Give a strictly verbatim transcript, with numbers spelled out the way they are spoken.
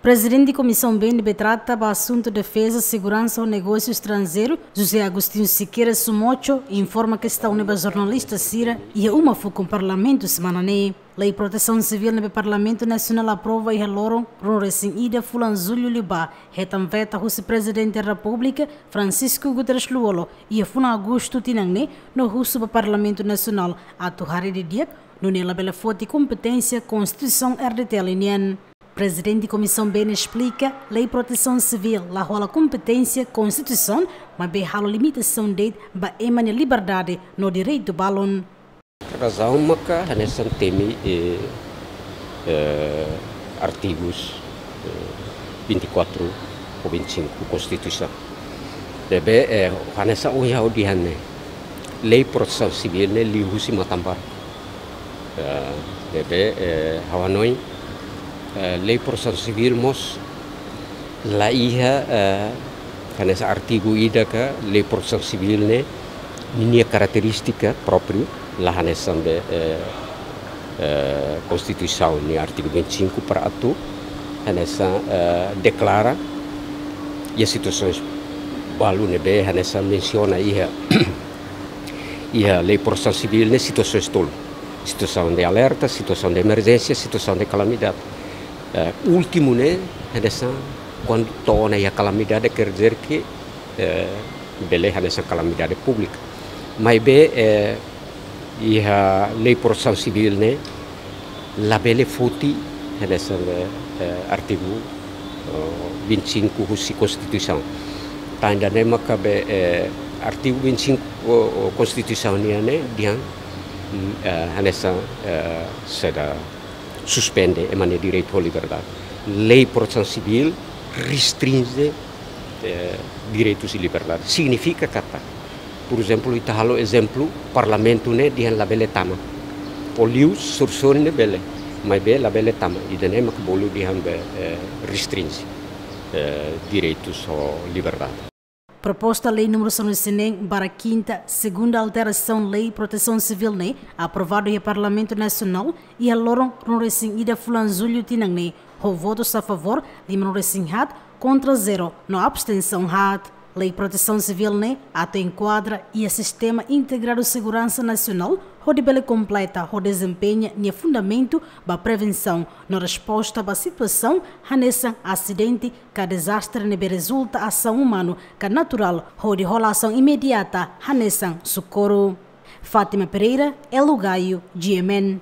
Prezidente Komisaun B ne'ebé trata ba asuntu defeza, seguransa ho negósiu estranjeiru, José Agostinho Sequeira Sumocho, informa kestaun ne'e ba jornalista sira iha uma fukun Parlamentu semana ne'e. Lei Protesaun Sivíl ne'ebé Parlamentu Nasionál aprova iha loron ruanulu-resin-ida fulan Jullu liubá, hetan veta husi Prezidente Repúblika Francisco Guterres Lú-Olo iha fulan Agostu tinan ne'e, no husu ba Parlamentu Nasionál atu haree didi'ak, nune'e labele foti kompeténsia Konstituisaun R D T L nian. Prezidente Komisaun B ne'e esplika, Lei Protesaun Sivíl la hola kompeténsia Konstituisaun, maibé halo limitasaun de'it ba ema nia liberdade no direitu balun. Razaun maka hanesan temi, eh, eh, artigus, eh, vinte e quatro ou vinte e cinco Konstituisaun. Ne'ebé, eh, hanesan ohin ha'u dehan ne'e, Lei Protesaun Sivíl ne'e liu husi Matanbarku. Eh, ne'ebé, eh, ha'u hanoin, eh, Lei Protesaun Sivíl mós la iha, eh, hanesan artigu ida ka Lei Protesaun Sivíl ne'e ninia karakterístika própriu, la hanesan be, eh, eh, Konstituisaun nia artigu vinte e cinco para atu hanesan, eh, deklara iha situasaun balu ne'ebé hanesan mensiona iha, iha Lei Protesaun Sivíl ne'e situasaun tolu. Situasaun de alerta, situasaun de emerjénsia, situasaun de kalamidade. Eh, últimu ne'e, hanesan kuandu to'o ona iha kalamidade, quer dizer que, eh, bele hanesan kalamidade públika. Maibé, eh, iha Lei Protesaun Sivíl ne'e labele foti hanesan, eh, artigu, eh, vinte e cinco husi Konstituisaun. Tan ida-ne'e maka be, eh, artigu vinte e cinco, oh, oh, Konstituisaun nian ne'e dehan, mm, eh, hanesan, eh, sei suspende ema nia direitu ho liberdade. Lei Protesaun Sivíl restrinje, eh, direitus i liberdade. Signifika katak, por ezemplu, ita halo ezemplu, Parlamentu ne'e dehan labele tama. Ou liu sorsori ne'e bele, maibé labele tama. Ida-ne'e mak bolu dehan be, eh, restrinje, eh, direitus ho liberdade. Proposta Lei númeru sanulu-resin-neen barra kinta, segunda alterasaun Lei Protesaun Sivíl ne'e, aprovadu iha Parlamentu Nasionál iha loron ruanulu-resin-ida fulan Jullu tinan ne'e, ho votus a favór limanulu-resin-haat, kontra zero, no abstensaun haat. Lei Protesaun Sivíl ne'e atu enkuadra iha sistema integradu seguransa nasionál, hodi bele kompleta ho dezempeña nia fundamentu ba prevensaun no resposta ba situasaun hanesan asidente ka dezastre ne'ebé rezulta asaun umanu ka naturál, hodi hola asaun imediata hanesan sokorru. Fátima Pereira, Elo Gaio, G M N.